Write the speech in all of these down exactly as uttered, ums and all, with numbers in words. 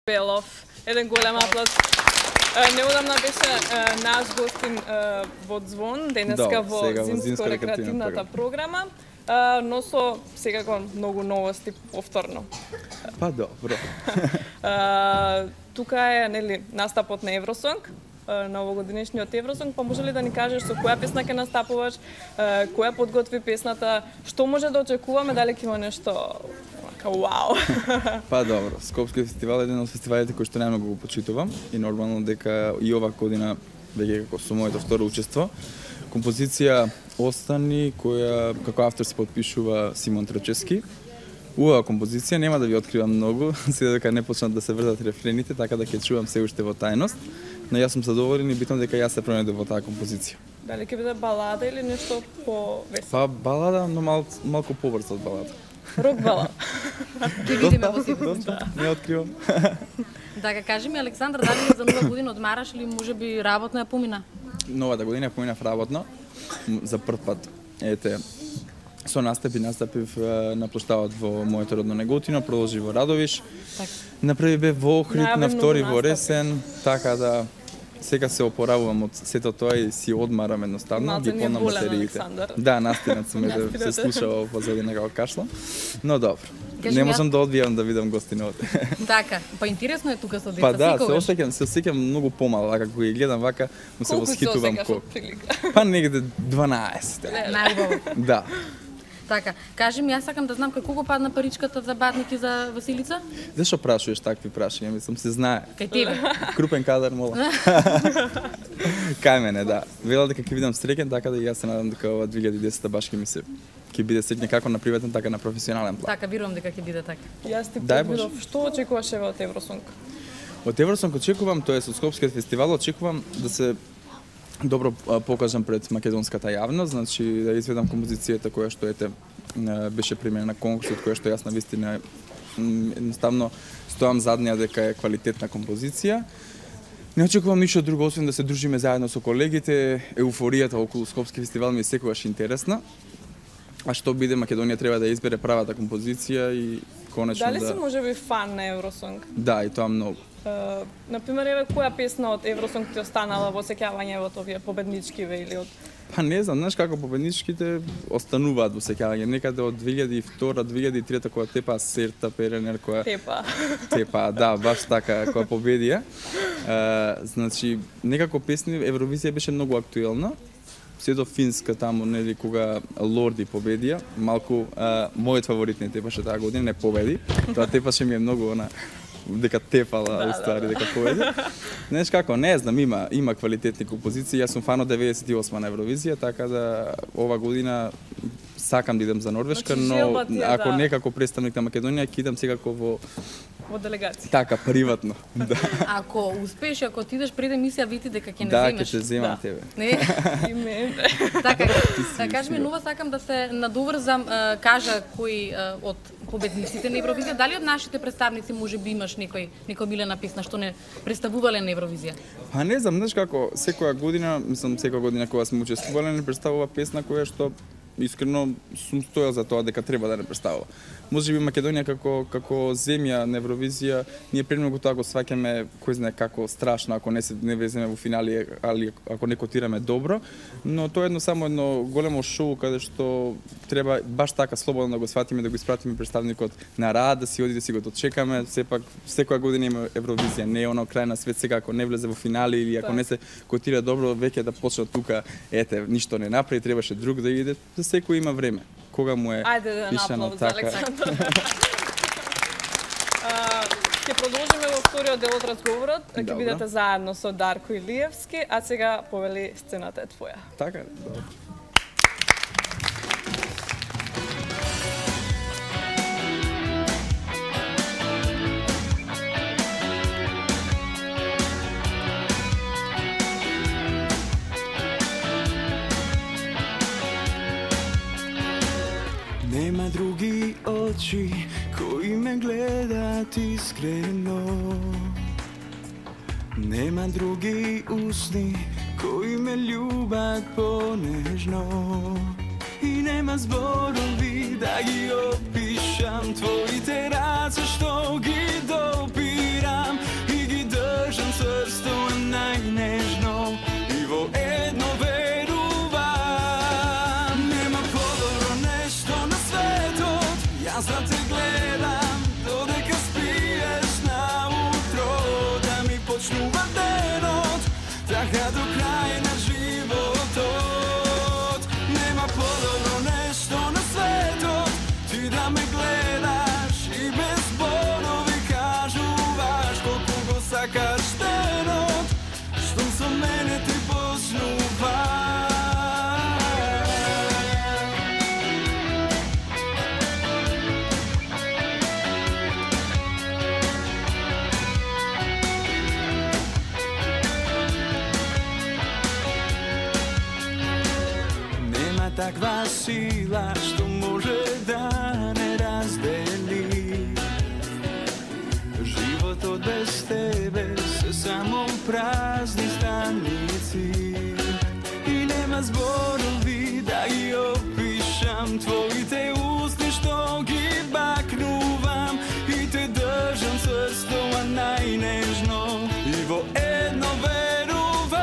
Белов. Еден голем аплауз. Неодамна беше наш гостин во Звон, денеска во зимско-рекреативната програма, но со секако многу новости повторно. Па добро. Тука е, нели, настапот на Евросонг, на овогодинешниот Евросонг, па може ли да ни кажеш со која песна ќе настапуваш, која подготви песната, што може да очекуваме, дали ќе има нешто вау? Па добро, Скопски фестивал е еден од фестивалите кој што најмногу го почитувам и нормално дека и ова година веќе како со моето второ учество. Композиција Остани, која како автор се подпишува Симон Трчевски. Убава композиција, нема да ви откривам многу, се дека не почнат да се врзат рефрените, така да ќе чувам се уште во тајност. Но јас сум задоволен и битно дека јас се пронајдов во таа композиција. Дали ќе биде балада или нешто по-весело? Па балада, но мал, малку побрзо од балада. Рок балада. Ќе видиме во секој. Не откривам. Така, кажи ми, Александар, дали за нова година одмараш или можеби работно ја помина? Новата година ја поминав работно за прв пат. Ете, со настапи настапив на плоштадот во моето родно Неготино, продолжи во Радовиш. Така. Направи бе во Охрид, на втори во Ресен, така да сега се опоравувам од сето тоа и си одмарам едноставно, ги полнам батериите. Да, настинат сум да се слушава позади некако кашла. Но добро. Не можам да одбијам да видам гостиновот. Така, па интересно е тука со деца. Па да, се осеќам, се осеќам многу помал, а како ги гледам вака, му се восхитувам колку. Па негде дванаесет. Најубаво. Да. Така, кажи ми, јас сакам да знам како го падна паричката за Батник и за Василица? Зашо прашуваш такви прашања? Мислам се знае. Кај тебе. Крупен кадар, мола. Кај мене, да. Вела дека ќе видам среќен, така да и јас се надам дека ова две илјади и десета баш ќе ми се ќе биде среќен како на приватен, така на професионален план. Така, верувам дека ќе биде така. Јас ти предвидов, што очекуваш еве од Евросонг? Од Евросонг очекувам, тоа е со Скопскиот фестивал, очекувам да се добро покажам пред македонската јавност, значи да изведам композицијата која што ете беше примена на конкурсот, која што јас навистина едноставно стоам зад неа дека е квалитетна композиција. Не очекувам ништо друго освен да се дружиме заедно со колегите. Еуфоријата околу Скопски фестивал ми е секогаш интересна. А што биде, Македонија треба да избере правата композиција и конечно Дали да... си можеби фан на Евросонг? Да, и тоа многу. Uh, например, еве која песна од Евросонг ти останала во сеќавање од овие победничкиве или од... Па не знам, знаеш како победничките остануваат во сеќавање. Некаде од две илјади и втора, две илјади и трета кога Тепа Серта Перенер која Тепа. Тепа, да, баш така која победија. Uh, значи, некако песни Евровизија беше многу актуелна. Се до Финска таму, нели, кога Лорди победија, малку uh, мојот фаворит не Тепаше таа година, не победи. Тоа Тепаше ми е многу она дека тепала, да, устави, да, дека победи. Знаеш како, не знам, има има квалитетни композиции. Јас сум фан од деветдесет и осма на Евровизија, така да ова година сакам да идам за Норвешка, значи, но тие, ако да. некако представник на Македонија, ќе идам секако во во делегација. Така, приватно. Да. Ако успееш, ако ти идеш пред емисија, види дека ќе не да, земеш. Да, ќе те земам да. тебе. Не? И мене. Така, да кажи ми, нова сакам да се надоврзам, кажа кои од победниците на Евровизија, дали од нашите представници можеби имаш некој некој милена песна што не представувале на Евровизија? Па не знам, знаеш како, секоја година, мислам секоја година кога сме учествувале, не представува песна која што искрено сум стоел за тоа дека треба да не представува. Можеби Македонија како како земја на Евровизија ние премногу тоа го сваќаме кој знае како страшно ако не се не влеземе во финали, али ако не котираме добро, но тоа е едно само едно големо шоу каде што треба баш така слободно да го сватиме, да го испратиме представникот на рад, да си оди да си го дочекаме. Сепак секоја година има Евровизија, не е оно крај на свет, сега ако не влезе во финали или ако не се котира добро, веќе да почне тука, ете, ништо не направи, требаше друг да иде. За секој има време. Кога му е пишано така. Ќе продолжиме во вториот дел од разговорот. Ќе бидете заедно со Дарко Илиевски, а сега повели сцената е твоја. Така, добро. Нема други очи кои ме гледат искрено. Нема други усни кои ме љубат понежно. И нема зборови да ги опишам твоите раце што ги допирам. таква сила што може да не раздели. Животот без тебе се само празни станици и нема зборови да ги опишам твоите устни што ги бакнувам и те држам црстова најнежно и во едно верувам.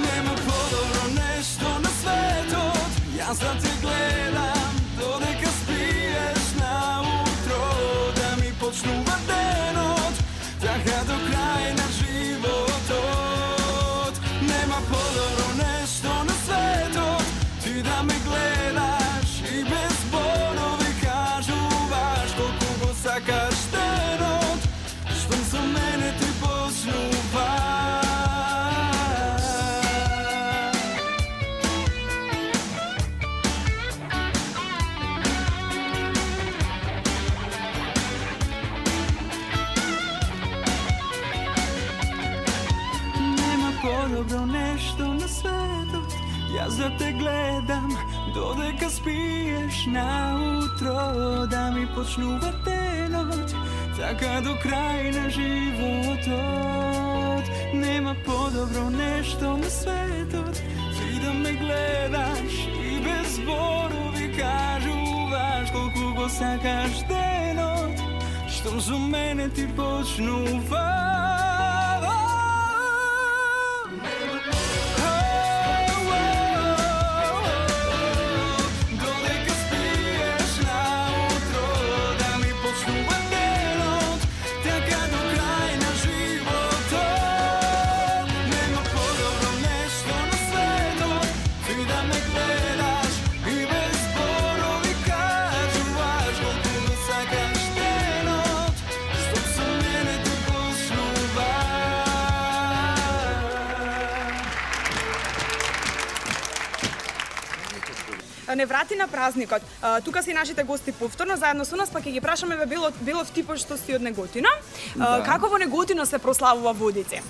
Нема подобро нешто на светот, јас да те гледам додека спиеш наутро, да ми почнува денот, така до крај на животот. Нема подобро нешто на светот, ти да ме гледаш и без зборови кажуваш колку го сакаш денот, штом со мене ти почнува. Нема подобро нешто на светот, јас да те гледам додека спиеш наутро, да ми почнува денот, така до крај на животот. Нема подобро нешто на светот, ти да ме гледаш и без зборови кажуваш колку го сакаш денот, штом со мене ти почнува. Не врати на празникот. Тука се и нашите гости повторно заедно со нас, па ќе ги прашаме бе било Белов типот што си од Неготино. Да. Како во Неготино се прославува Водици?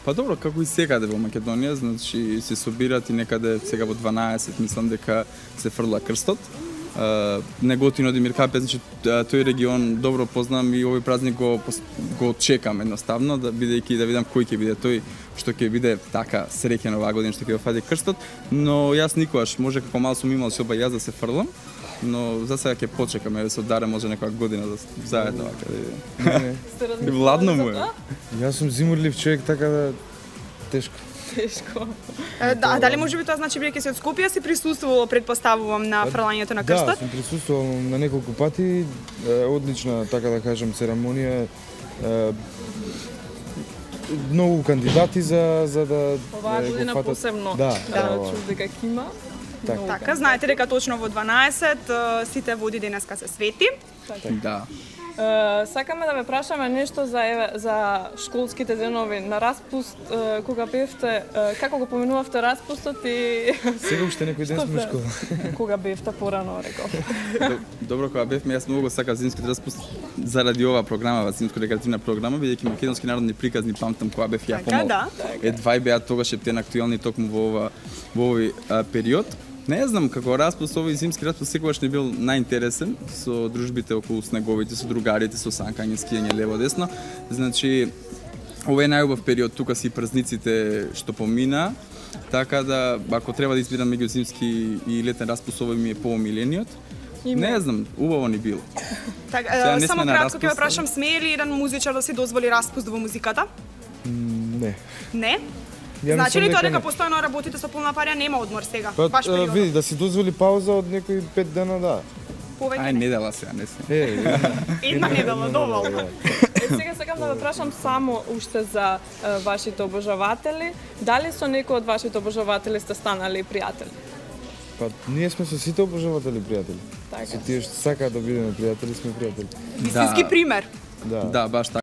Па добро, како и секаде во Македонија, значи се собират и некаде сега во дванаесет мислам дека се фрла крстот. Uh, Неготино, Димир Капе, значи тој регион добро познам и овој празник го го чекам едноставно, да бидејќи да видам кој ќе биде тој што ќе биде така среќен оваа година што ќе го фади крстот, но јас никогаш може како мал сум имал соба јас да се фрлам, но за сега ќе почекаме да се оддаре може некоја година да заедно вака да видиме. И владно му е. Јас сум зимурлив човек, така да тешко. Тешко. Да, дали може би тоа значи бидејќи си од Скопје си присуствувал, предпоставувам, на фрлањето на крстот? Да, сум присуствувал на неколку пати, одлична, така да кажам, церемонија. Многу кандидати за за да оваа година фатат... посебно. Да, да, да чув дека ќе има. Так. Така, знаете дека точно во дванаесет сите води денеска се свети. Так. Да. Uh, сакаме да ве прашаме нешто за еве за школските денови на распуст, uh, кога бевте, uh, како го поминувавте распустот и сега уште некој ден сме школа. Кога бевте порано, реков. Добро, кога бевме, јас многу сакав зимскиот распуст заради оваа програма, зимско-рекреативна програма, бидејќи македонски народни приказни памтам кога бев ја помал. Да. Едва беа тогаш ептен актуелни токму во ова во овој а, период. Не знам, како распуст, овој зимски распуст секогаш не бил најинтересен со дружбите околу снеговите, со другарите, со санкање, скијање лево десно. Значи, ова е најубав период, тука си празниците што помина, така да ако треба да избирам меѓу зимски и летен распуст, овој ми е поомилениот. Не знам, убаво ни било. Так, е, само кратко ќе ве прашам, смее ли еден музичар да си дозволи распуст во музиката? Не. Не? Значи ли тоа дека постојано работите со полна парја, нема одмор сега? Па, баш период. Види, да си дозволи пауза од некои пет дена, да. Повеќе Ај, недела сега, не се. Е, една недела, доволно. Е, сега сакам да ве прашам само уште за е, вашите обожаватели. Дали со некој од вашите обожаватели сте станали пријатели? Па, ние сме со сите обожаватели пријатели. Така. Со тие што сакаат да бидеме пријатели, сме пријатели. Вистински пример. Да. Да, баш така.